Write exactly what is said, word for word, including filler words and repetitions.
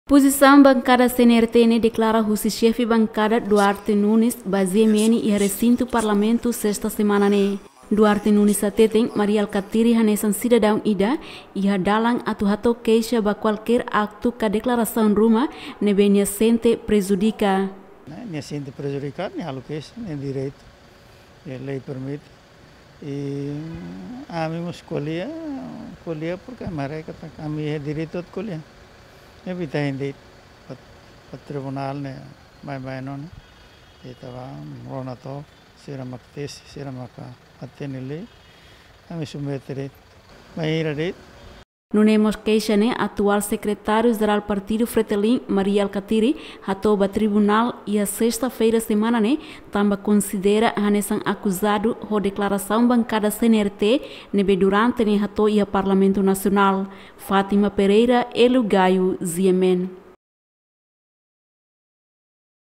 Pozisaun bankada C N R T ne'e deklara husi xefe bankada Duarte Nunes ba G M N iha resintu Parlamentu sesta semana ne'e. Duarte Nunes hateten Mari Alkatiri hanesan sidadaun ida iha dalan atu hato'o keixa ba kualkér aktu ka deklarasaun ruma ne'ebé nia sente prejudika. Nia sente prejudikadu, nia halo keixa, nia direitu, lei permite. I ami mós ko'alia, ko'alia porke ami haree katak ami iha direitu atu ko'alia. Ne'ebé ita hein de'it ba, ba tribunál ne'e, baibain ona. Ita bá rona took, sira mak tesi, sira mak hatene lei, ami submete de'it. Bainhira de'it. Nune'e mós keixa ne'e atuál Sekretáriu Jerál Partidu Fretilin, Mari Alkatiri, hato'o ba tribunál iha sesta-feira semana ne'e, tanba konsidera hanesan akuzadu ho deklarasaun bankada C N R T ne'ebé durante ne'e hato'o iha Parlamentu Nasionál. Fátima Pereira, Hélio Gaio, G M N.